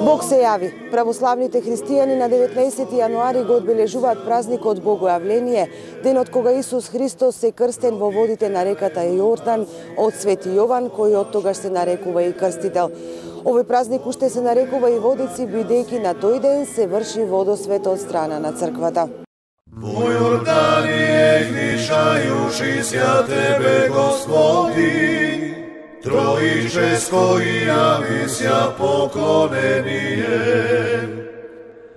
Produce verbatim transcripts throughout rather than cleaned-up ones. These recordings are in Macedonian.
Бог се јави. Православните христијани на деветнаесети јануари го одбележуваат празникот Богојавление, денот кога Исус Христос се крстен во водите на реката Јордан од Свети Јован, кој од тогаш се нарекува и крстител. Овој празник уште се нарекува и водици, бидејќи на тој ден се врши водосвет од страна на црквата. Во Јордание гришајуши ся Тебе, Господи, Троическо и јави ся поклонение.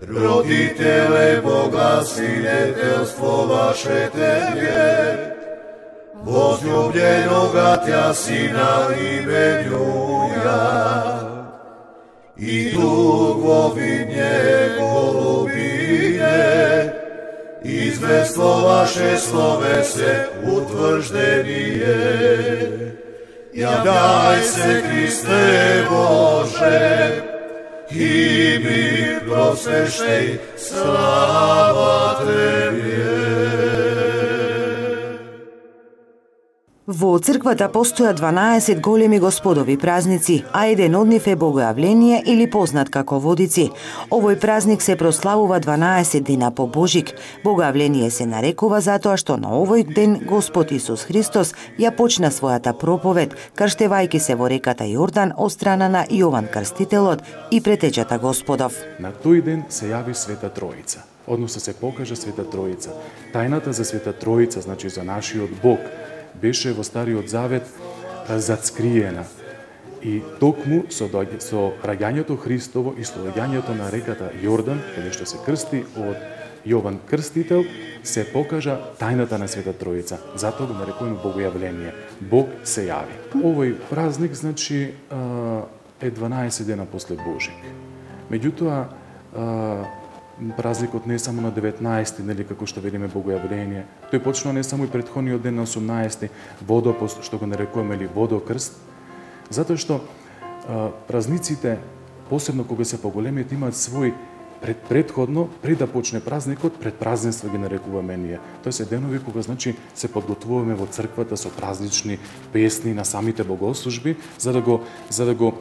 Родителе Бога, свидетелство ваше Тебе, возлюбленога Тя Сина именуја. И тук во видње голубине, известно ваше словесе утврждение. Јавјај се, Христе Боже, и би просвещеј, слава Тебе. Во црквата постоја дванаесет големи господови празници, а еден од нив е Богојавление или познат како водици. Овој празник се прославува дванаесет дена по Божик. Богојавление се нарекува затоа што на овој ден Господ Исус Христос ја почна својата проповед, крштевајќи се во реката Јордан од страна на Јован Крстителот и претечата Господов. На тој ден се јави Света Троица, односно се покажа Света Троица. Тајната за Света Троица, значи за нашиот Бог, беше во Стариот Завет зацкриена. И токму со, со раѓањето Христово и со раѓањето на реката Јордан, каде што се крсти од Јован Крстител, се покажа тајната на Света Троица. Затоа го нарекуваме Богојавление. Бог се јави. Овој празник, значи, е дванаесет дена после Божик. Меѓутоа, празникот не е само на деветнаесети, нели, како што велиме Богојавление. Тој почнува не само и претходниот ден на осумнаесети, водопост, што го нарекуваме или водокрст, затоа што а, празниците, посебно кога се поголемиот, имаат свој пред предходно, пред да почне празникот, пред празненства ги нарекуваме ние. Тоа се денови кога, значи, се подготвуваме во црквата со празнични песни на самите богослужби, за да го за да го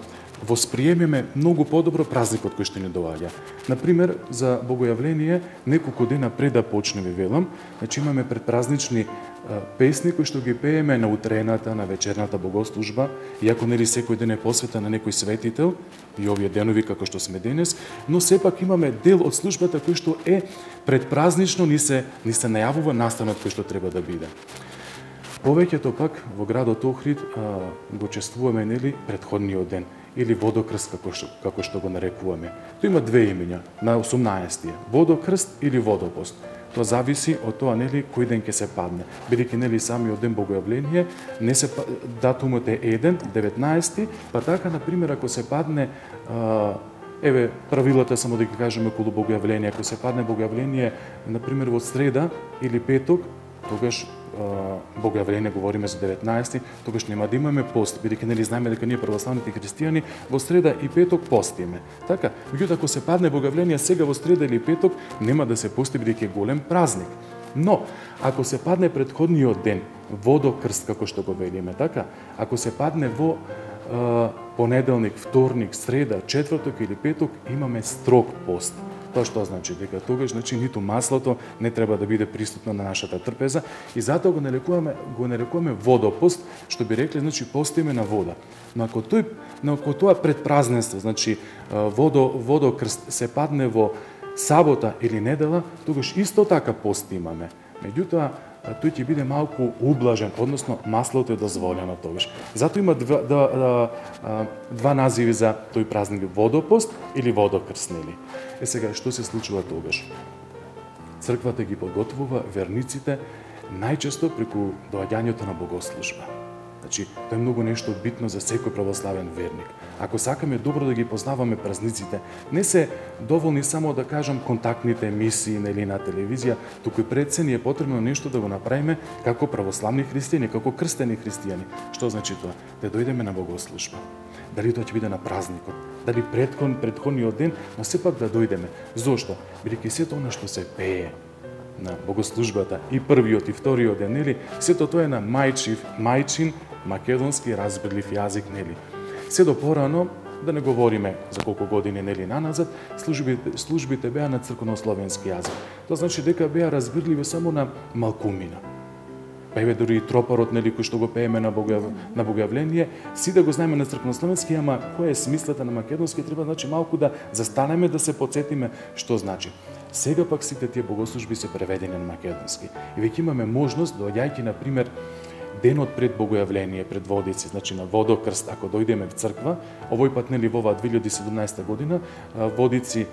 восприемеме многу подобро празникот кој што ни доаѓа. Например, за Богојавление, неколку дена пред да почне, ви велам, значи имаме предпразнични песни кои што ги пееме на утрената, на вечерната богослужба, иако нели секој ден е посветен на некој светител, и овие денови како што сме денес, но сепак имаме дел од службата кој што е предпразнично ни се ни се најавува настанот кој што треба да биде. Повеќето пак во градот Охрид а, го чествуваме, нели, претходниот ден или водокрст како што како што го нарекуваме. Тој има две имиња на осумнаесети, водокрст или водопост. Тоа зависи од тоа, нели, кој ден ќе се падне. Бидејќи, нели, самиот ден Богојавление не се датумот е еден, деветнаесети, па така на пример ако се падне а, еве правилата само да ги кажеме околу Богојавление, ако се падне Богојавление на пример во среда или петок, тогаш Богојавление говориме за деветнаесети, тогаш нема да имаме пост, бидејќи нели знаеме дека ние православните христијани во среда и петок постиме. Така, меѓутоа ако се падне Богојавление сега во среда или петок, нема да се пости бидејќи е голем празник. Но ако се падне претходниот ден, водокрст како што го велиме, така, ако се падне во е, понеделник, вторник, среда, четврток или петок, имаме строг пост. Тоа што значи дека тогаш, значи, ниту маслото не треба да биде присутно на нашата трпеза и затоа го нарекуваме го нарекуваме водопост, што би рекле, значи, постиме на вода. Но ако тој но ако тоа предпразненство, значи водо водокрст се падне во сабота или недела, тогаш исто така пост имаме. Меѓутоа тој ќе биде малку ублажен, односно маслото е дозволено тогаш. Затоа има два, два, два називи за тој празник: водопост или водокрст, нели? Е сега, што се случува тогаш? Црквата ги подготвува верниците најчесто преку доаѓањето на богослужба. Значи, тоа е многу нешто битно за секој православен верник. Ако сакаме добро да ги познаваме празниците, не се доволни само да кажам контактните емисии нели на телевизија, туку и пред се ни е потребно нешто да го направиме како православни христијани, како крстени христијани. Што значи тоа? Да дојдеме на богослужба. Дали тоа ќе биде на празникот, дали предхон предходниот ден, но сепак да дојдеме. Зошто? Бидејќи сето она што се пее на богослужбата и првиот и вториот ден, нели, сето тоа е на мајчив, мајчин македонски разбирлив јазик, нели. Се до порано да не говориме за колку години нели наназад, службите, службите беа на црковнословенски јазик. Тоа значи дека беа разбирливи само на малкумина. Пееве дури и тропарот, нели, кој што го пееме на, бога, на богојавление, си да го знаеме на црковнословенски, ама која е смислата на македонски, треба значи малку да застанеме да се потсетиме што значи. Сега пак сите тие богослужби се преведени на македонски. И веќе имаме можност, доаѓајќи на пример денот пред богојавление, пред Водици, значи на Водокрст, ако дојдеме в црква, овој пат нели во оваа две илјади и седумнаесета година, Водици,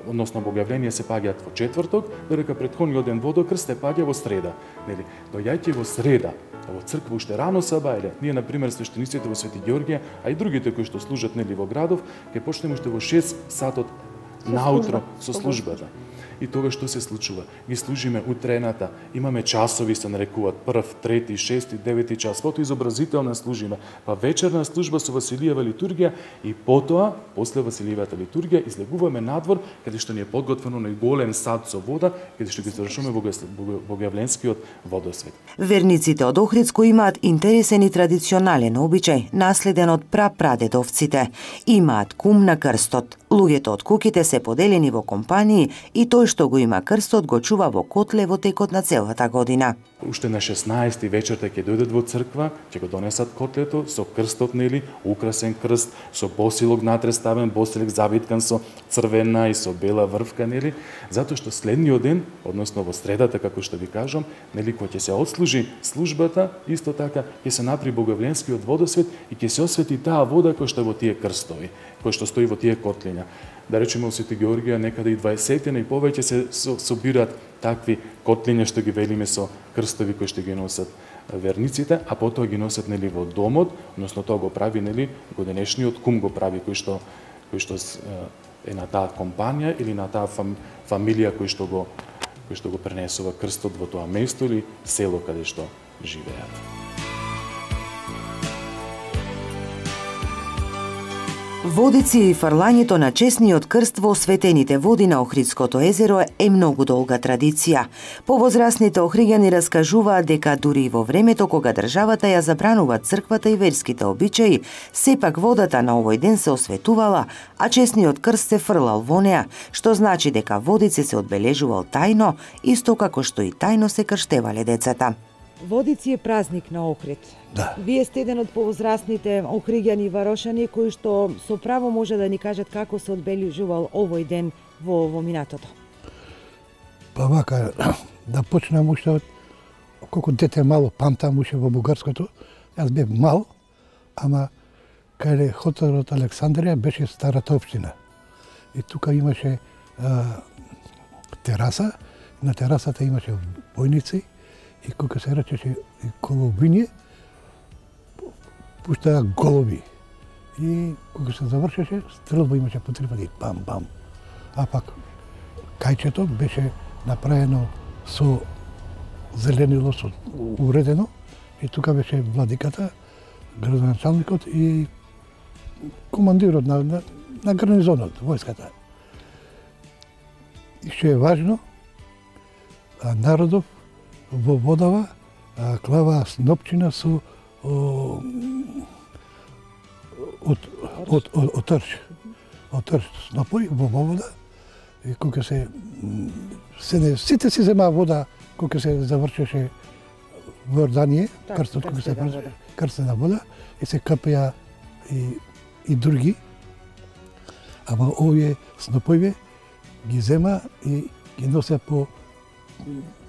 односно богојавление се паѓаат во четврток, додека претходниот ден Водокрст се паѓа во среда. Нели, доаѓајќи во среда, во црква уште рано сабајле, ние на пример свештениците во Свети Ѓорѓе, а и другите кои што служат нели во градов, ќе почнеме уште во шест сатот наутро со службата. И тоа што се случува? Ги служиме утрената, имаме часови, се нарекуваат прв, трети, шести, девети час, потоа изобразителна служиме, па вечерна служба со Василијева литургија и потоа, после Василијевата литургија, излегуваме надвор, каде што ни е подготвено на голем сад со вода, каде што ги завршуваме богојавленскиот водосвет. Верниците од Охридско имаат интересен и традиционален обичај, наследен од прапрадедовците. Имаат кум на крстот. Луѓето од куките се поделени во компании и тој што го има крстот го чува во котле во текот на целата година. Уште на шеснаесети вечерта ќе дојдат во црква, ќе го донесат котлето со крстот, нели, украсен крст, со босилок натре ставен, босилок завиткан со црвена и со бела врвка, нели, затоа што следниот ден, односно во средата, како што ви кажам, нели, кога ќе се отслужи службата, исто така ќе се напри богојавленскиот водосвет и ќе се освети таа вода која што е во тие крстови, која што стои во тие котлиња. Да речеме во Свети Ѓорѓија некаде и дваесетина и повеќе се собираат такви котлиња што ги велиме со крстови кои што ги носат верниците, а потоа ги носат нели во домот, односно тоа го прави нели годинешниот кум го прави кој што кој што е на таа компанија или на таа фам, фамилија кој што го кој што го пренесува крстот во тоа место или село каде што живеат. Водици и фрлањето на честниот крст во осветените води на Охридското езеро е многу долга традиција. Повозрасните охриѓани раскажуваат дека дури и во времето кога државата ја забранува црквата и верските обичаи, сепак водата на овој ден се осветувала, а честниот крст се фрлал во неа, што значи дека Водици се одбележувал тајно, исто како што и тајно се крштевале децата. Водици е празник на Охрид. Да. Вие сте еден од повозрасните охриѓани и варошани кои што со право може да ни кажат како се одбележувал овој ден во, во минатото. Па вака, да почнам уште од колку дете мало памтам уште во Бугарското. Јас бев мал, ама каде хотелот Александрија беше старата општина. И тука имаше а, тераса, на терасата имаше бојници и кога се речеше колобиње, пуштаа голуби. И кога се завршеше, стрелба имаше по три пати, бам-бам. А пак кајчето беше направено со зеленило, со уредено, и тука беше владиката, градоначалникот и командирот на, на, на гарнизонот, војската. И што е важно, народов во водава клава снопчина со о, од од од од трш. Од трш снопој во вода и кога се се не сите си зема вода кога се завршеше во Јорданија, крстот кога се завршеше, крстена вода и се капеа и и други. Ама овие снопојве ги зема и ги носе по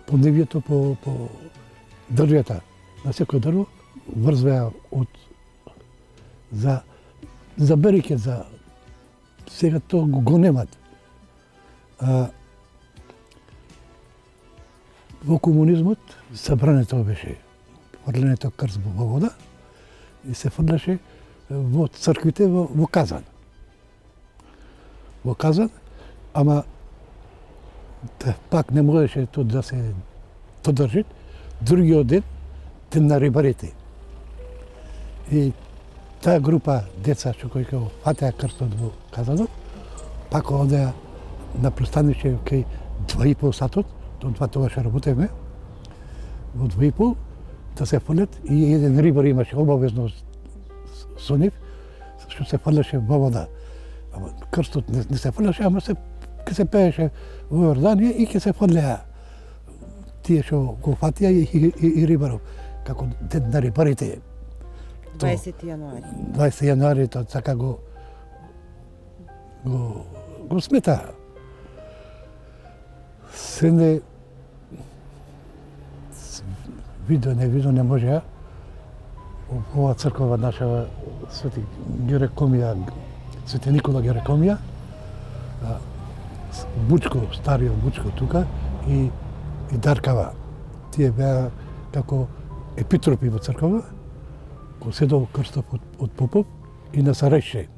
по нивјето, по, по дрвјата. На секој дрво врзвеа од за за береќе, за сега тоа го, го немат. А, во комунизмот забрането беше фрлането крст во вода и се фрлеше во црквите во, во Казан. Во Казан, ама да, пак не можеше тоа да се подржи. Другиот ден, ден на рибарите. И таа група деца што кои го фатеа крстот во Казанот, пак одеа на пристанище кај два и пол сатот, до два тогаш работевме, во два и пол, да се фрлет и еден рибар имаше обавезно со нив, што се фрлеше во вода. Ама крстот не, не се фрлеше, ама се ке се пееше во Јорданија и ке се фрлеа тие што го фатија и, и, и, и рибаров. Како ден на рибарите. дваесети јануари. дваесети јануари, тоа така го го, го смета. Се не видо, не видо, не може. Ова црква наша Свети Герекомија, Свети Никола Герекомија, Бучко, стариот Бучко тука и, и Даркава. Тие беа како епитропи во црква, кој седов крстов од, од попов и на Сареште.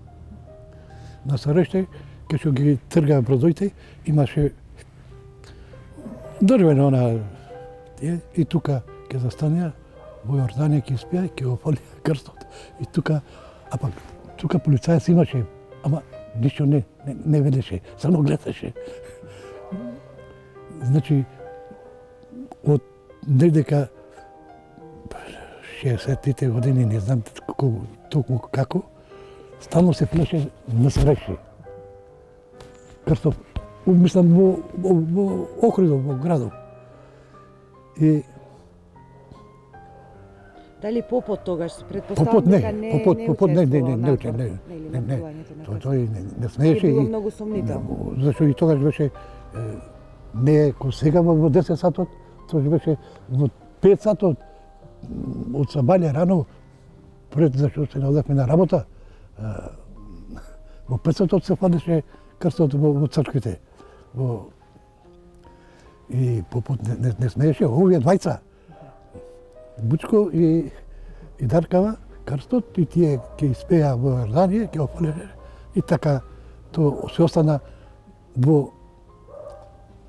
На Сареште, кај што ги тргаа бродоите, имаше дрвено она тие, и тука ќе застанеа во Јорданија, ќе испија, ќе го фалија крстот. И тука, а пак тука полицајец имаше, ама ништо не, не, не велеше, само гледаше. Значи, од недека шеесеттите години, не знам колку, токму како, стално се флеше на Сареште. Крстов, мислам, во, во, во окрузот, во градот. И дали попот тогаш предпоставам попот не, дека не попот, не попот не, не, не, не, учествувал не, не, не, не, тој тој не, не смееше било и многу сомнително. зашто и тогаш беше не како сега во десет сатот, тогаш беше во пет сатот од сабаља рано пред зашто се наодевме на работа. Во пет сатот се фадеше крстот во, во црквите. Во и попот не, не, не смееше овие двајца. Бучко и, и Даркава, крстот, и тие ќе испеа во Јорданија, ќе офалеше, и така то се остана во,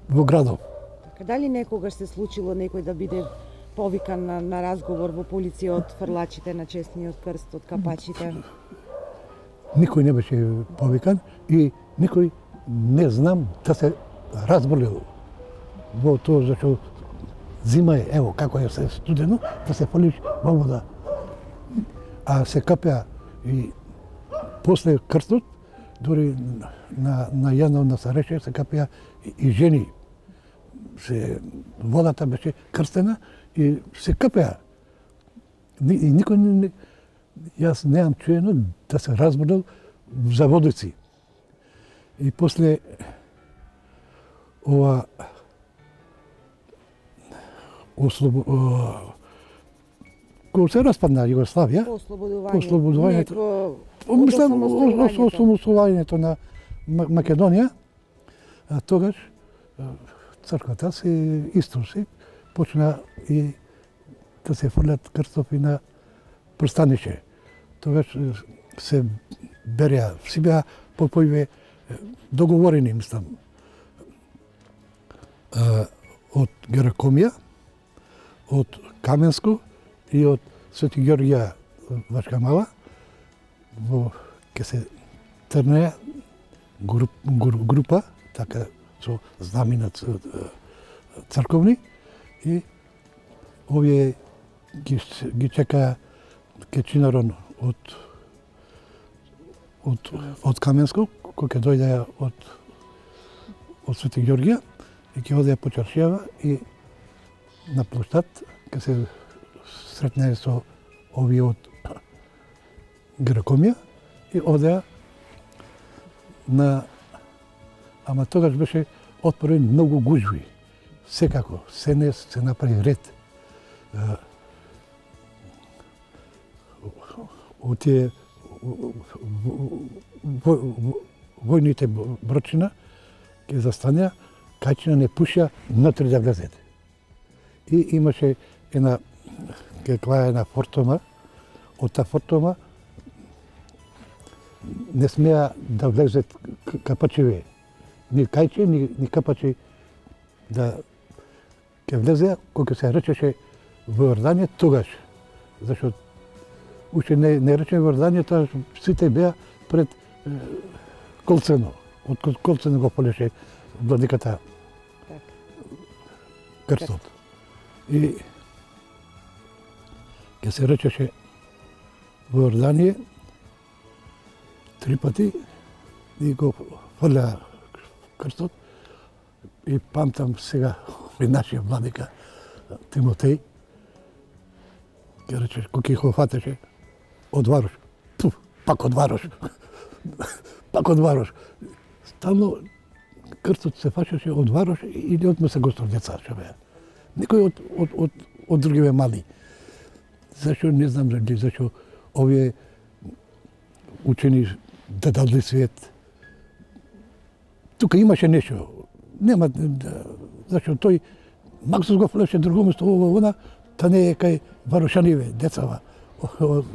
во градот. Дали некогаш се случило некој да биде повикан на, на разговор во полиција од фрлачите на честниот крст, од капачите? Никој не беше повикан и никој не знам да се разболел во тоа, зашто зима е, ево, како е се студено, да се фалиш во вода. А се капеа и после крстот, дори на, на Јанов на Сареште се капеа и, и жени. Се, водата беше крстена и се капеа. Ни, и никој не, јас неам чуено да се разболел за водици. И после ова ослобо... кога се распадна Југославија, По ослободувањето. По ослободувањето. По... мислам, осамостојувањето. осамостојувањето на Македонија, а тогаш црквата се иструси, почна и да се фрлат крстови на пристанище. Тогаш се береа, си беа попојве договорени, мислам, од Герекомија, од Каменско и од Свети Ѓорѓија Вачка Мала, во ке се трнеа груп, груп, група, така со знамена црковни, и овие ги, ги чекаа Кечинарон од од од Каменско, кој ќе дојде од од Свети Ѓорѓија и ќе оде по чаршијава и на площад ќе се сретне со овие од Герекомија и одеа на... Ама тогаш беше отпорен многу гужви. Секако, се не се направи ред. Од тие војните брочина ќе застанеа, кајчина не пуша внатре да влезете. И имаше една, каква една фортома, од таа фортома не смеа да влезет капачеве. Ни кајче, ни, ни капачи да ќе влезе, кога се речеше во Јорданија тогаш. Зашто уште не, не рече во Јорданија, тоа сите беа пред е, Колцено. Од Колцено го полеше владиката крстот. И ќе се речеше во Јорданија, три пати и го фрля крстот. И памтам сега и нашиот владика Тимотеј, ќе рече, кој го фатеше, одварош. Пу, пак одварош. Пак одварош. Стално крстот се фашеше одварош или од Месегостор деца што беа. Никој од, од, од, од другиве мали. Зашо не знам дали зашо овие учени дадални свет. Тука имаше нешто. Нема зашо тој Максус го флеше друго место ова она, та не е кај Варошаниве, децава,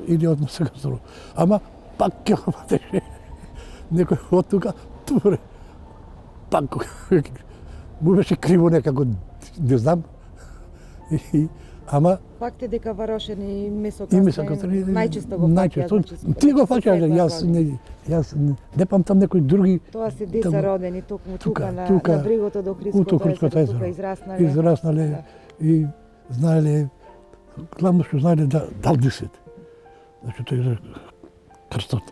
или од Месегостор. Ама пак ќе го фатеше. Некој од тука, туре, пак му беше криво некако, не знам. И, ама Факт е дека Варошен и и Месокастен Месокастен најчесто го најчесто. фаќаат. Ти го фаќаш, јас не јас не памтам некои други. Тоа се деца Таму- родени токму тука, тука, на, тука, на брегото до Ото Хриското Хриското езеро, тука езеро. израснале. Израснале Да. и знаеле, главно што знаеле да далди свет. Значи тој е крстот.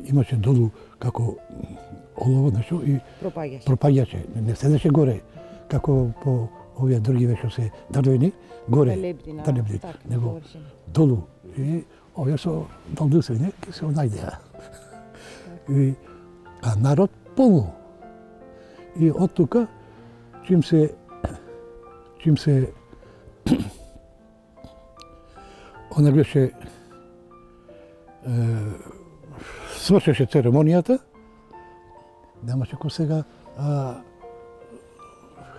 Имаше долу како олово нешто и Пропаѓаш. пропаѓаше. Не седеше горе, како по овие други што се дрвени, горе. Талебни на талебни, така, него површина. долу. И овие со далдисвење ќе се најдеа. И, а народ полно. И од тука, чим се, чим се, она беше, е, свршеше церемонијата, немаше кој сега, а,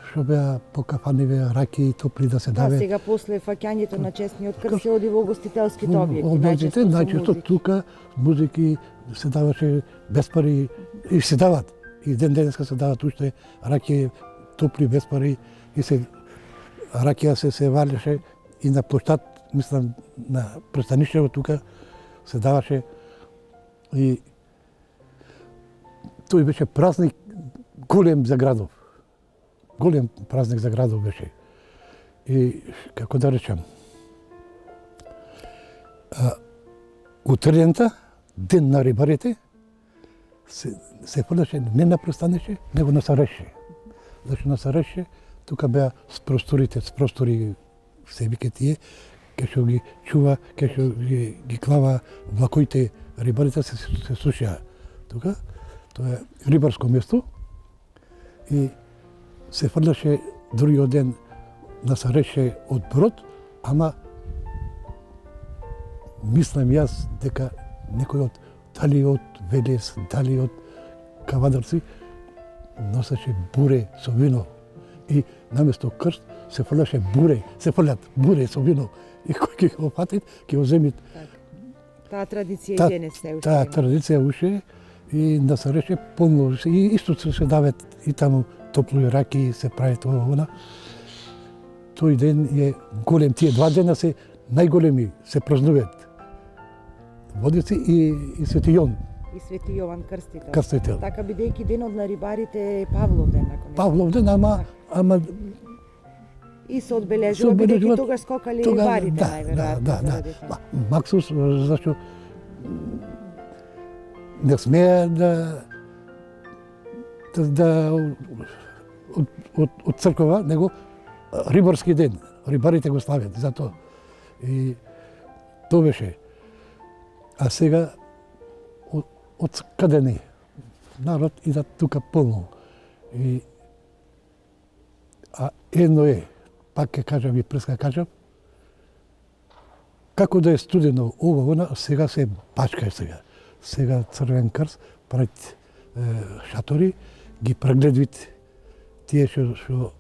што беа по кафаниве раки топли да се Да, даве. сега после фаќањето на честниот крст се оди во гостителските објекти, Објектите, најчесто со најчесто музики. тука музики се даваше без пари и се дават. И ден денеска се дават уште раки топли без пари и се ракија се се валеше и на площад, мислам на пристаништето тука се даваше и тој беше празник голем за градов. Голем празник за градов беше. И како да речам, а, утрента, ден на рибарите, се, се фрлеше не на пристанище, него на Сареше. Зашто на Сареше, тука беа с просторите, с простори се вика тие, ке што ги чува, ке што ги, ги клава влакоите, рибарите се, се сушија. Тука, тоа е рибарско место и се фрлеше другиот ден на Сареше од брод, ама мислам јас дека некој од дали од Велес, дали од Кавадарци носеше буре со вино и наместо крст се фрлеше буре, се фрлат буре со вино и кој ќе го фатит, ќе го земит. Таа традиција и Та- денес се уште Таа има. традиција уште и на Сареше полно и исто се се дават и таму топлои раки се прави тоа она. Тој ден е голем, тие два дена се најголеми, се празнуваат. Водици и, и Свети Јон, И Свети Јован Крстител. Крстител. Така бидејќи денот на рибарите е Павлов ден, ако не. Павлов ден, ама, ама И се се одбележува бидејќи одбележуваат тогаш скокале тога- рибарите да, најверојатно да, да, заради да. тоа. Ма, Максус, зашто не смее да да, да од, од, од црква, него рибарски ден. Рибарите го славят за тоа. И тоа беше. А сега од, од каде не? Народ ида тука полно. И а едно е, пак ќе кажам и преска кажам, како да е студено ова, она, сега се бачка е сега. Сега Црвен крст пред е, шатори, ги прегледвит тие што што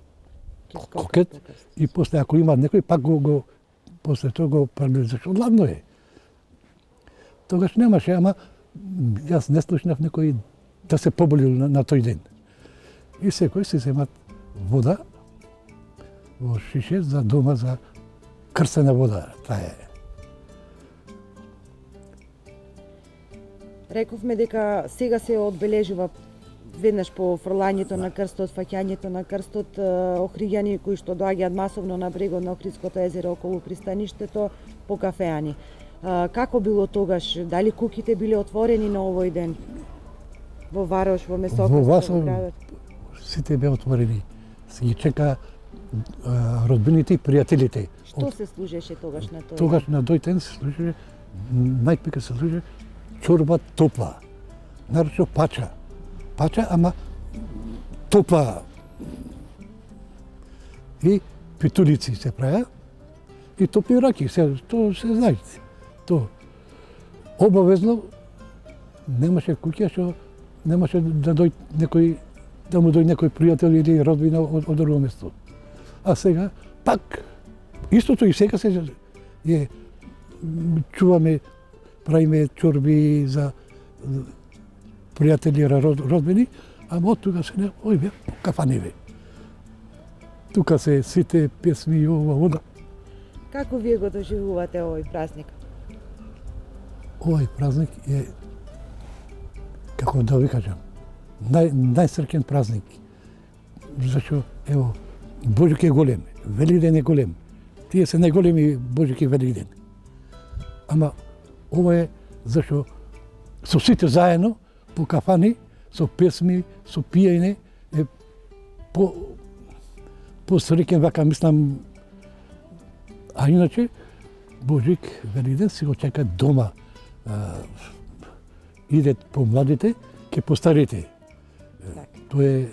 Ќе скокат кокет по крст. и после ако има некој пак го, го после тоа го прегледвит, зашто ладно е. Тогаш немаше, ама м, јас не слушнав некој да се поболил на, на тој ден. И секој се земат вода во шише за дома за крстена вода. Таа е. Рековме дека сега се одбележува веднаш по фрлањето на крстот, фаќањето на крстот, е, охриѓани кои што доаѓаат масовно на брегот на Охридското езеро околу пристаништето, по кафеани. А, како било тогаш? Дали куќите биле отворени на овој ден? Во Варош, во Месокрст, Во во Васов градот? сите беа отворени. Се ги чека а, родбините и пријателите. Што се служеше тогаш на тој? Тогаш на тој ден се служеше, најпека се служеше чорба топла. Нарочно пача. Пача, ама топла. И питулици се правеа. И топли раки, се, то се знаете. То. Обавезно немаше куќа што немаше да дојде некој, да му дојде некој пријател или родбина од, од друго место. А сега пак истото и сега се е чуваме, правиме чорби за пријатели, родбини, ама од тука се не, ој бе, кафани бе. Тука се сите песми и ова, ода. Како вие го доживувате овој празник? Овој празник е, како да ви кажам, нај, најсреќен празник. Зашто, ево, Божик е голем, Велиден е голем. Тие се најголеми Божик и Велиден. Ама, ова е зашто со сите заедно, по кафани, со песми, со пиење, е по, посреќен, вака мислам. А иначе, Божик Велиден си го чека дома. А, иде по младите, ке по старите. Тоа е,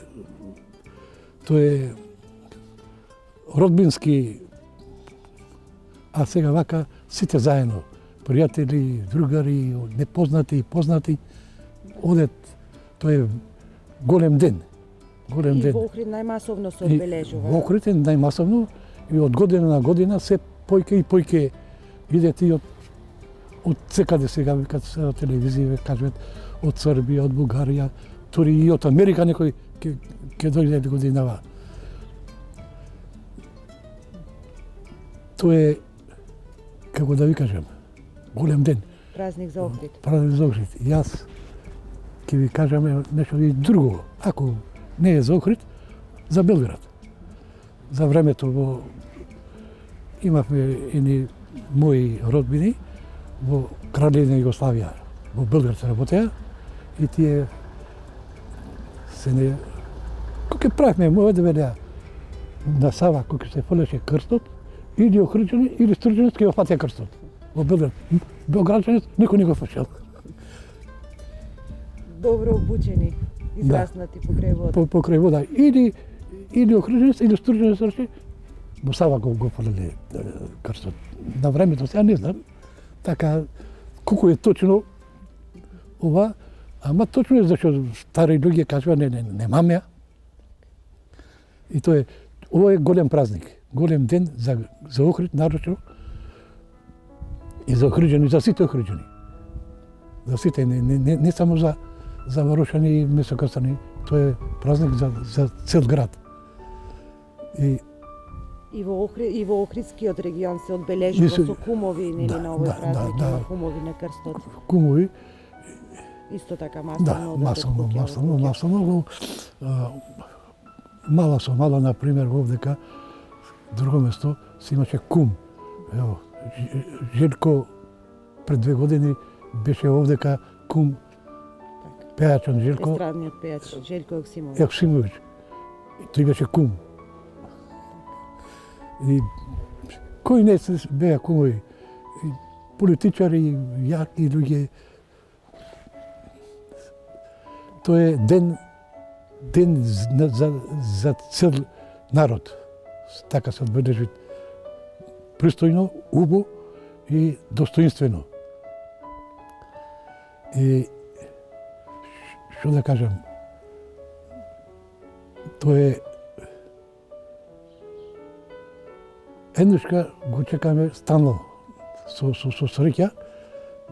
тоа е родбински, а сега вака сите заедно, пријатели, другари, непознати и познати, одет, тоа е голем ден. Голем и ден. во Охрид најмасовно се одбележува. Во Охрид е најмасовно и од година на година се појке и појке идет и од од секаде сега викат се на телевизија кажат од Србија, од Бугарија, тури и од Америка некој ќе ќе дојде годинава. Тоа е, како да ви кажам, голем ден. Празник за Охрид. Празник за Охрид. Јас ќе ви кажам нешто и друго. Ако не е за Охрид, за Белград. За времето во имавме едни мои родбини во Кралевна Југославија, во Белград се работеа и тие се не... Кога правихме, може да велеа на Сава, кога се фрлеше крстот, или охриđani, или стрđанец ке опатија крстот. Во Белград. Белграđанец никој не го фашел. Добро обучени, израснати да. Покрај вода. По, покрај вода. Или, или охриđанец, или стрđанец рече, во Сава го, го фрлеле крстот. На времето, сега не знам, така, колку е точно ова, ама точно е зашто стари луѓе кажува не, не, немам ја. И тоа е, ова е голем празник, голем ден за, за Охрид, нарочно, и за охриđани, за сите охриđани. За сите, не, не, не, не само за, за Варошани и Месокрстани, тоа е празник за, за цел град. И И во Охрид, и во Охридскиот регион се одбележува се... со кумови, нели, да, на овој да, празник, да, има да. кумови на крстот. Кумови. Исто така Да, масовно. масовно, масовно, масовно. Мала со мала, например, овдека, друго место, се имаше кум. Ево, Желко пред две години беше овдека кум, пејачот Желко. Естрадниот пејач Желко Јоксимовиќ. Јоксимовиќ. Тој беше кум. И кој не се беа кумови? И политичари, јаки луѓе. Тоа е ден, ден за, за, за цел народ. Така се одбележи пристојно, убо и достоинствено. И што да кажам, тоа е еднашка го чекаме стално со, со, со среќа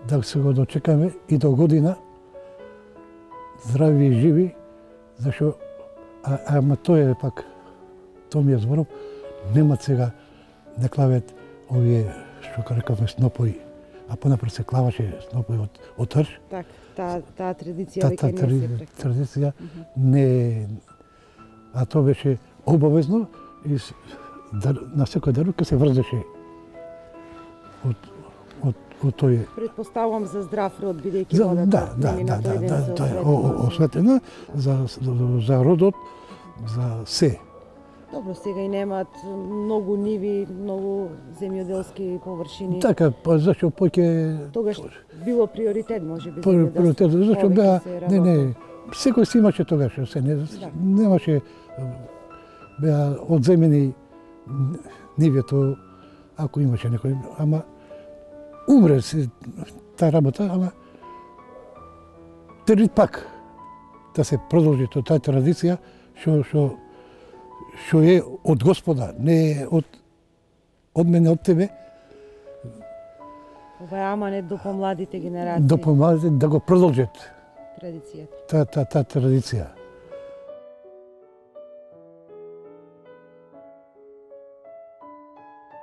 да се го дочекаме и до година здрави и живи, зашто а, ама тоа е пак, тоа ми е зборов, немат сега да клават овие што рекавме снопои, а понапред се клаваше снопои од од трш. Так, таа таа традиција Та, веќе та, не се практикува. традиција не, а тоа беше обавезно и с- дар, на секој дарување се врзеше од од од тој. Предпоставувам за здрав род, бидејќи За, водата да, да, нели, да, на да, тој ден да, се тоа е осветлува. осветена за, за, за родот, за се. Добро, сега и немаат многу ниви, многу земјоделски површини. Така, па зашто поќе Тогаш било приоритет, може би, Пр- приоритет, зашто повеќе беа, се не, работи. не, секој си имаше тогаш, се не, Да. немаше, беа одземени нивето, ако имаше некој, ама умре се таа работа, ама требни пак да се продолжи тоа таа традиција, што што што е од Господа, не е од од мене, од тебе, Ова е аманет до помладите генерации. да помагате да го продолжат Традицијата. таа та, та традиција.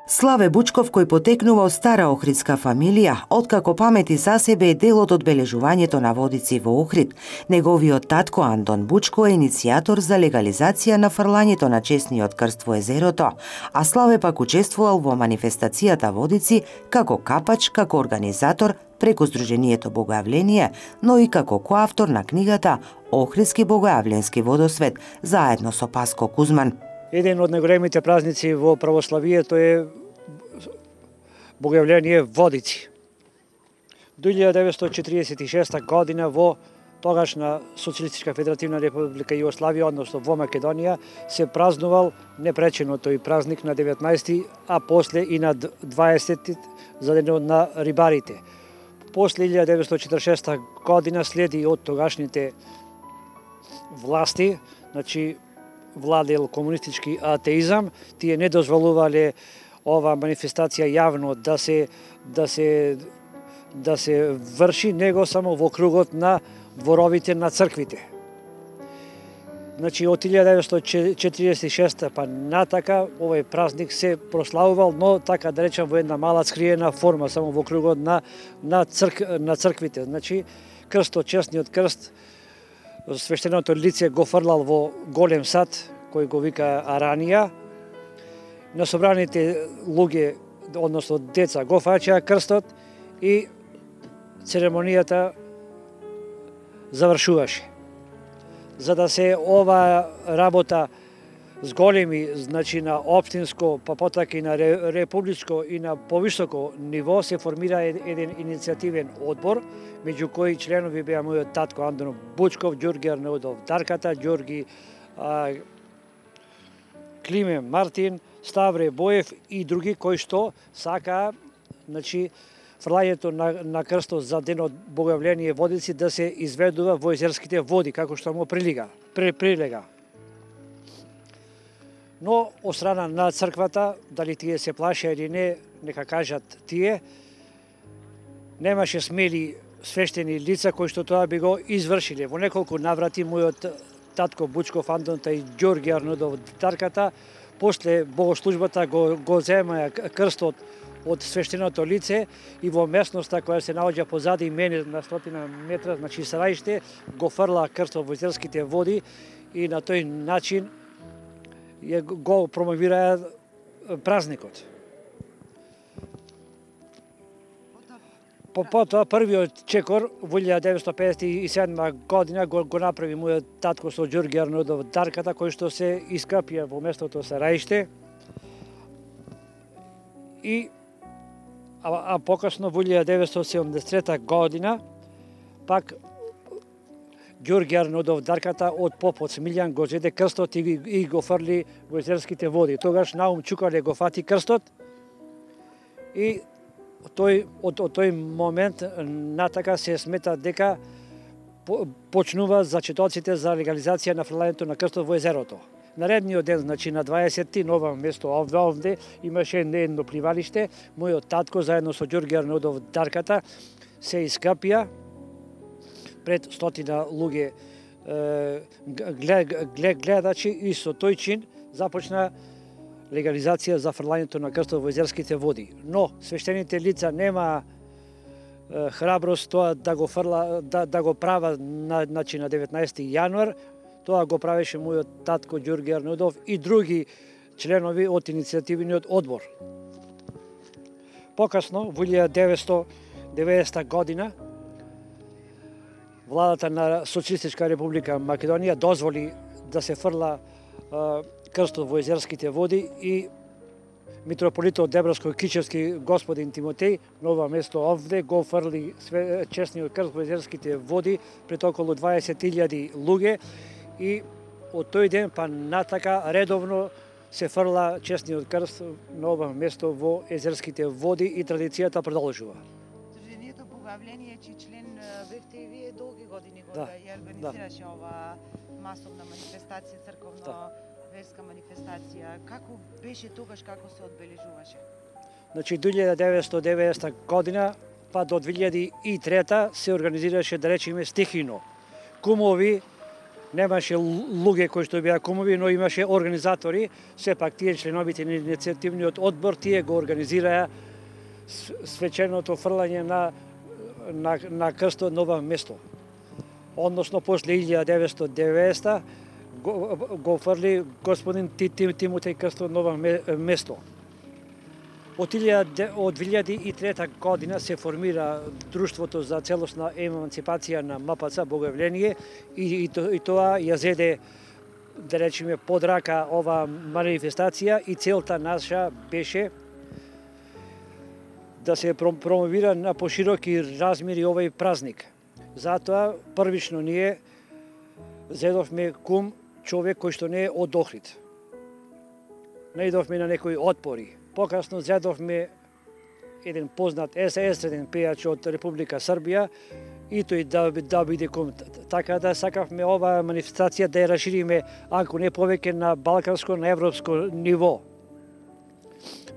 Славе Бучков, кој потекнува од стара охридска фамилија, откако памети за себе е дел од одбележувањето на водици во Охрид. Неговиот татко Антон Бучко е иницијатор за легализација на фрлањето на честниот крст во езерото, а Славе пак учествувал во манифестацијата Водици како капач, како организатор преку Сдруженијето Богојавление, но и како коавтор на книгата Охридски богојавленски водосвет, заедно со Паско Кузман. Еден од најголемите празници во православието е Богојавление Водици. До илјада деветстотини четиридесет и шеста година во тогашна Социјалистичка федеративна република Југославија, односно во Македонија, се празнувал непречено тој празник на деветнаесети, а после и на дваесети за денот на рибарите. После илјада деветстотини четиридесет и шеста година следи од тогашните власти, значи владел комунистички атеизам, тие не дозволувале ова манифестација јавно да се да се да се врши, него само во кругот на дворовите на црквите. Значи од илјада деветстотини четиридесет и шеста па натака овој празник се прославувал, но така да речам во една мала скриена форма, само во кругот на на црк на црквите. Значи крстот, честниот крст, свештеното лице го фрлал во голем сад, кој го вика Аранија. На собраните луѓе, односно деца, го фаќаа крстот и церемонијата завршуваше. За да се ова работа с големи, значи на општинско, па потака и на републичко и на повисоко ниво, се формира еден иницијативен одбор, меѓу кои членови беа мојот татко Антон Бучков, Ѓорги Арнаудов Дарката, Ѓорги а, Климе Мартин, Ставре Боев и други кои што сакаа, значи, фрлањето на, на крстот за денот Богојавление Водици да се изведува во езерските води, како што му прилига, при, прилега. Но, од страна на црквата, дали тие се плаша или не, нека кажат тие, немаше смели свештени лица кои што тоа би го извршиле. Во неколку наврати мојот татко Бучков Антон и Ѓорги Арнаудов Дарката, после богослужбата го, го земаја крстот од свештеното лице и во местноста која се наоѓа позади мене на стотина метра, значи Сараиште, го фрла крстот во езерските води и на тој начин го промовираа празникот. По потоа првиот чекор во илјада деветстотини педесет и седма година го, го направи мојот татко со Ѓорги Арнаудов Дарката, кој што се искапија во местото Сараиште. И а, а покасно во илјада деветстотини седумдесет и трета година пак Ѓорги Арнаудов Дарката од попот Смилјан го зеде крстот и, и го фрли во езерските води. Тогаш Наум Чукале го фати крстот и тој од, од тој момент натака се смета дека по, почнува зачетоците за легализација на фрлањето на крстот во езерото. Наредниот ден, значи на дваесети, на ова место овде, овде имаше едно пливалиште, мојот татко заедно со Ѓорги Арнаудов Дарката се искапија пред стотина луѓе глед, глед, гледачи и со тој чин започна легализација за фрлањето на крстот во езерските води. Но свештените лица нема е, храброст тоа да го фрла, да, да го права на, значи, на деветнаесети јануар. Тоа го правеше мојот татко Ѓорги Арнаудов и други членови од иницијативниот одбор. Покасно, во илјада деветстотини деветдесета година владата на Социјалистичка република Македонија дозволи да се фрла крстот во езерските води и митрополитот Дебровско-Кичевски господин Тимотеј на ова место овде го фрли честниот крст во езерските води пред околу дваесет илјади луѓе и од тој ден па натака редовно се фрла честниот крст на ова место во езерските води и традицијата продолжува. Сдруженијето Богојавление, чиј член бевте и вие долги години го да, ја организираше да. ова масовна манифестација, црковно да. верска манифестација. Како беше тогаш, како се одбележуваше? Значи, дујлејада деветстотини и деветдесета година па до две илјади и трета се организираше, да речеме, стихино. Кумови, немаше луѓе кои што беа кумови, но имаше организатори. Сепак тие членовите на иницијативниот одбор, тие го организираа свеченото фрлање на, на, на крстот на ова место. Односно, после илјада деветстотини и деветдесета го, го фрли господин Тимотеј крстот на ова место. Од две илјади и трета година се формира Друштвото за целосна еманципација на МПЦ Богојавление и, и, и тоа ја зеде, да речеме, под рака ова манифестација и целта наша беше да се промовира на пошироки размери овој празник. Затоа првично ние зедовме кум човек кој што не е од Охрид. Наидовме на некои отпори. Покасно зедовме еден познат естраден пејач од Република Србија и тој да, да биде кум. Така да сакавме ова манифестација да ја расшириме, ако не повеќе, на балканско, на европско ниво.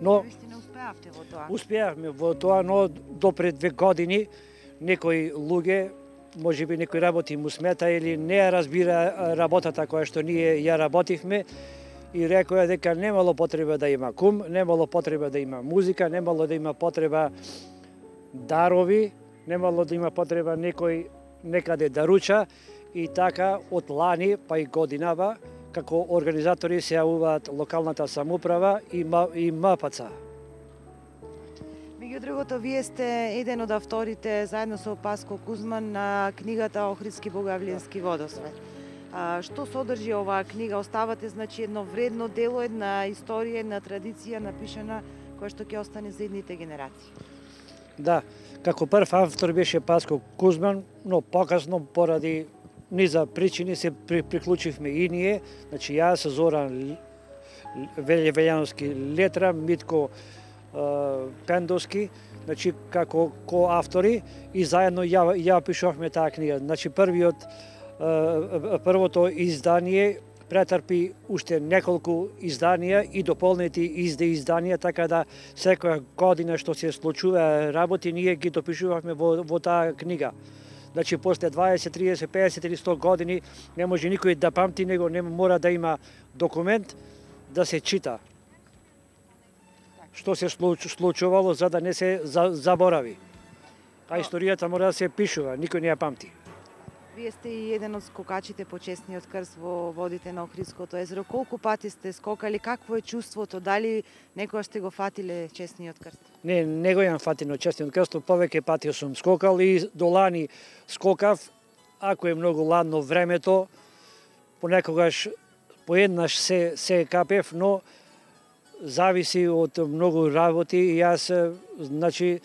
Но успеавте во тоа? Успеавме во тоа, но до пред две години некои луѓе, можеби некои работи му смета или не ја разбира работата која што ние ја работивме, и рекоа дека немало потреба да има кум, немало потреба да има музика, немало да има потреба дарови, немало да има потреба некој некаде да руча, и така од лани па и годинава како организатори се јавуваат локалната самоуправа и МПЦ. Меѓу другото, вие сте еден од авторите заедно со Паско Кузман на книгата Охридски Богојавленски водосвет. А, што содржи оваа книга? Оставате, значи, едно вредно дело, една историја, една традиција напишана која што ќе остане за идните генерации. Да, како прв автор беше Паско Кузман, но покасно поради низа причини се при, приклучивме и ние, значи јас, Зоран Велјановски Летра, Митко uh, Пендовски, значи како коавтори, и заедно ја, ја пишувавме таа книга. Значи првиот првото издание претрпи уште неколку изданија и дополнети изде изданија, така да секоја година што се случува работи, ние ги допишувавме во, во таа книга. Значи, после дваесет, триесет, песет или сто години не може никој да памти, него не мора да има документ да се чита што се случувало, за да не се заборави. А историјата мора да се пишува, никој не ја памти. Вие сте и еден од скокачите по честниот крст во водите на Охридското езеро. Колку пати сте скокали? Какво е чувството? Дали некоја сте го фатиле честниот крст? Не, не го јам фатино честниот крст, повеќе пати сум скокал и до лани скокав. Ако е многу ладно времето, понекогаш поеднаш се, се капев, но зависи од многу работи и јас, значи,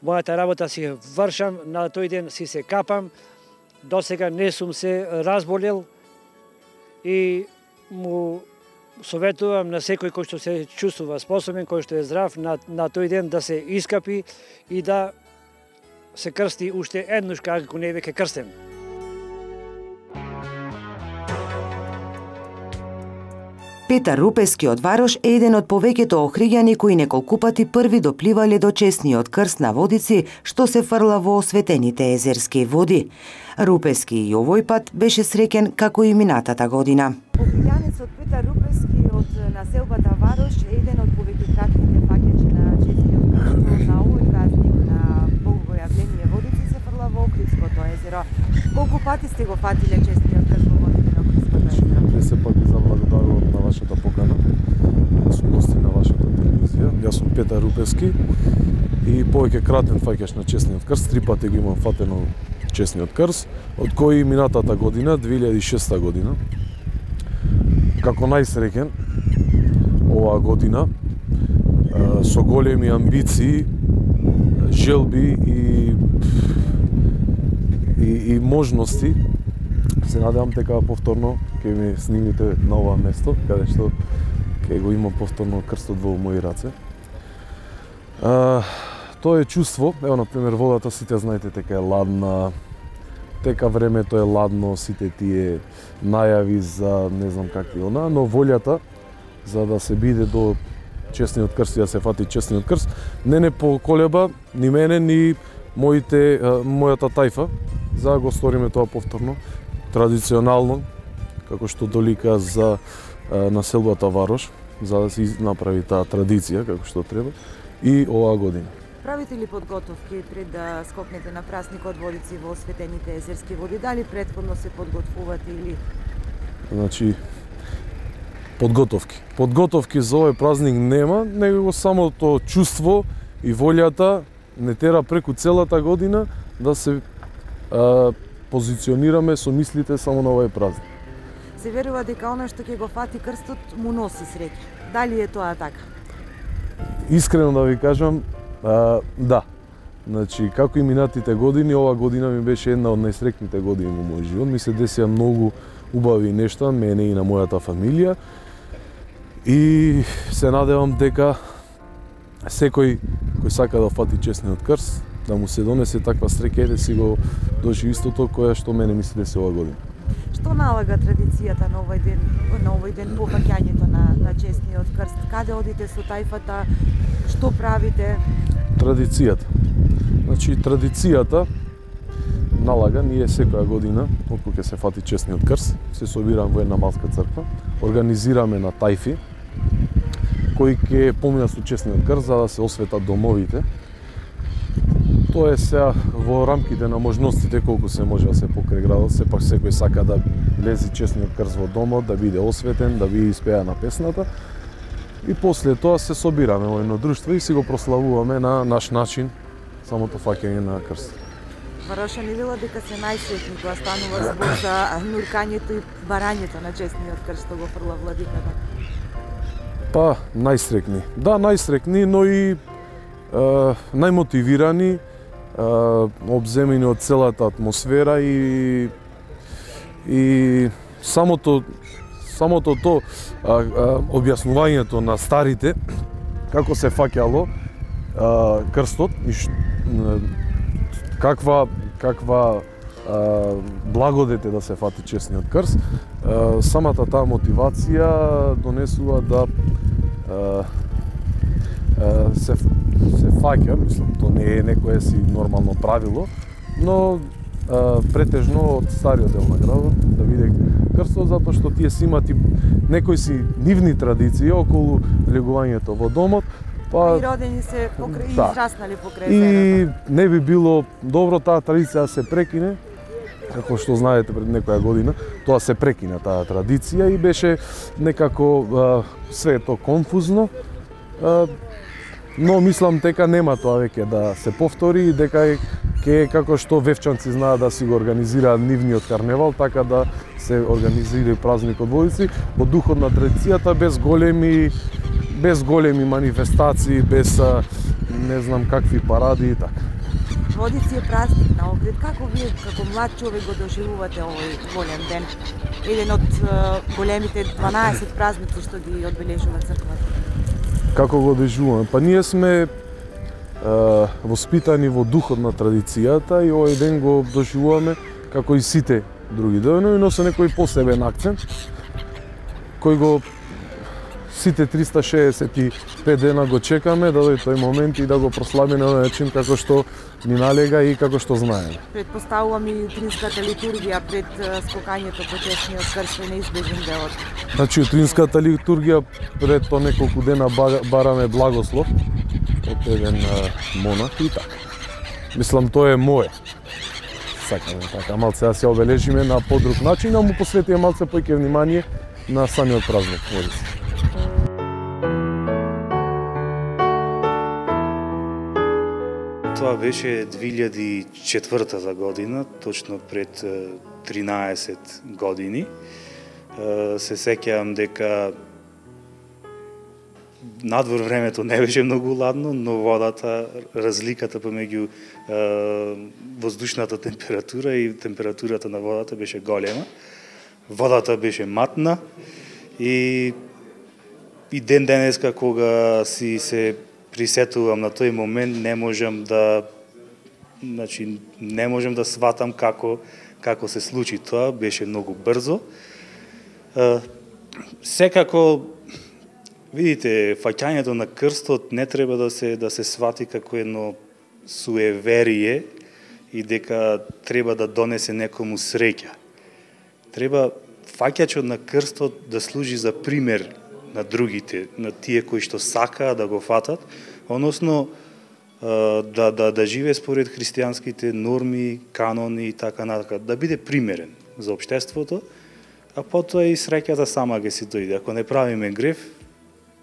мојата работа си вршам, на тој ден си се капам. До сега не сум се разболел и му советувам на секој кој што се чувствува способен, кој што е здрав, на, на тој ден да се искапи и да се крсти уште еднаш, како не веќе крстен. Петар Рупески од Варош е еден од повеќето охриѓани кои неколку пати први допливале до честниот крст на водици што се фрла во осветените езерски води. Рупески и овој пат беше среќен како и минатата година. Охриѓанецот Петар Рупески од населбата Варош е еден од повеќекратните фаќачи на честниот крст на овој празник на Богојавление водици се фрла во Охридското езеро. Колку пати сте го фатиле честниот крст во водите на Охридското езеро? Пред се пак ви заблагодарувам на вашата покана, да сум гости на вашата телевизија. Јас сум Петар Рупески и повеќе кратен фаќаш на честниот крст, три пати го имам фатено честниот крст, од кои минатата година, две илјади и шеста година, како најсреќен оваа година, со големи амбиции, желби и, и, и можности, се надевам дека повторно ќе ми снимите на ова место, каде што ќе го имам повторно крстот во мои раце. А, тоа е чувство, ево, например, водата, сите знаете дека е ладна, тека времето е ладно, сите тие најави за не знам какви она, но волјата за да се биде до честниот крст и да се фати честниот крст, не не поколеба ни мене, ни моите, мојата тајфа, за да го сториме тоа повторно, традиционално, како што долика за населбата Варош, за да се направи таа традиција како што треба и оваа година. Правите ли подготовки пред да скокнете на празникот Водици во осветените езерски води? Дали претходно се подготвувате или? Значи, подготовки. Подготовки за овој празник нема, него самото чувство и волјата не тера преку целата година да се а, позиционираме со мислите само на овој празник. Се верува дека она што ќе го фати крстот му носи среќа. Дали е тоа така? Искрено да ви кажам, а, да. Значи, како и минатите години, ова година ми беше една од најсреќните години во мојот живот. Ми се десија многу убави нешта, мене и на мојата фамилија. И се надевам дека секој кој сака да фати честниот крст, да му се донесе таква среќа и да си го доживи истото која што мене ми се деси ова година. Што налага традицијата на овој ден, на овој ден по фаќањето на, на честниот крст? Каде одите со тајфата? Што правите? Традицијата. Значи, традицијата налага, ние секоја година, откога ќе се фати честниот крст, се собираме во една малска црква, организираме на тајфи, кои ќе поминат со честниот крст за да се осветат домовите. Тоа е сега во рамките на можностите колку се може да се покрај градот, сепак секој сака да влезе честниот крст во домот, да биде осветен, да биде испеана песната. И после тоа се собираме во едно друштво и си го прославуваме на наш начин самото фаќање на крст. Варошани вела дека се најсреќни кога станува збор за нуркањето и барањето на честниот крст што го фрла владиката. Па, најсреќни. Да, најсреќни, но и е, најмотивирани, обземени од целата атмосфера и и самото самото то а, а, објаснувањето на старите како се фаќало а, крстот и ш, каква каква а, благодет е да се фати честниот крст, а, самата таа мотивација донесува да а, а, се се фаќа, мислам, тоа не е некое си нормално правило, но а, претежно од стариот дел на градот да биде крстот, затоа што тие си имат и некои си нивни традиции околу легувањето во домот, па и родени се покрај, да, и израснали покрај и зената. не би било добро таа традиција да се прекине, како што знаете пред некоја година, тоа се прекина таа традиција и беше некако а, све тоа конфузно. А, но мислам дека нема тоа веќе да се повтори и дека ќе како што вевчанци знаат да си го организираат нивниот карневал, така да се организира и празникот Водици во духот на традицијата, без големи без големи манифестации, без не знам какви паради и така. Водици е празник на Охрид. Како вие како млад човек го доживувате овој голем ден? Еден од големите дванаесет празници што ги одбележува црквата. Како го доживуваме? Па ние сме е, воспитани во духот на традицијата и овој ден го доживуваме како и сите други денови, но со некој посебен акцент кој го сите триста шеесет и пет дена го чекаме да дојде тој момент и да го прославиме на начин како што ни налега и како што знаеме. Предпоставувам и утринската литургија пред скокањето по честниот крст е неизбежен дел од. Значи утринската литургија пред тоа неколку дена бараме благослов од еден монах и така. Мислам тоа е мое. Сакаме така малце да се обележиме на подруг начин, да му посветиме малце поќе внимание на самиот празник Водици. Тоа беше две илјади и четвртата година, точно пред тринаесет години. Се сеќавам дека надвор времето не беше многу ладно, но водата, разликата помеѓу воздушната температура и температурата на водата беше голема. Водата беше матна и и ден денеска кога си се присетувам на тој момент, не можам да значи не можам да сватам како како се случи тоа, беше многу брзо. Секако видите, фаќањето на крстот не треба да се да се свати како едно суеверие и дека треба да донесе некому среќа. Треба фаќачот на крстот да служи за пример на другите, на тие кои што сакаат да го фатат, односно да да да живее според христијанските норми, канони и така натака, да биде примерен за општеството, а потоа и среќата сама ќе си дојде. Ако не правиме грев,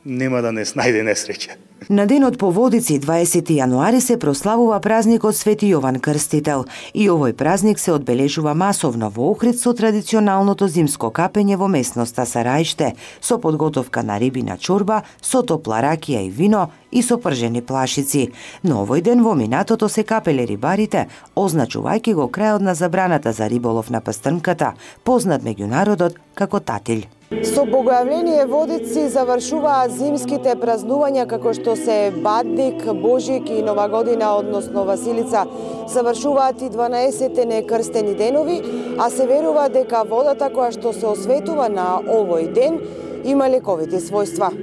нема да не снајде несреќа. На денот по Водици, дваесети јануари, се прославува празникот Свети Јован Крстител и овој празник се одбележува масовно во Охрид со традиционалното зимско капење во местноста Сарајште, со подготовка на рибина чорба, со топла ракија и вино и со пржени плашици. Но овој ден во минатото се капеле рибарите, означувајќи го крајот на забраната за риболов на пастрнката, познат меѓу народот како татиль. Со Богојавление Водици завршуваат зимските празнувања како што се Бадник, Божик и Нова година, односно Василица. Завршуваат и дванаесетте некрстени денови, а се верува дека водата која што се осветува на овој ден има лековити својства.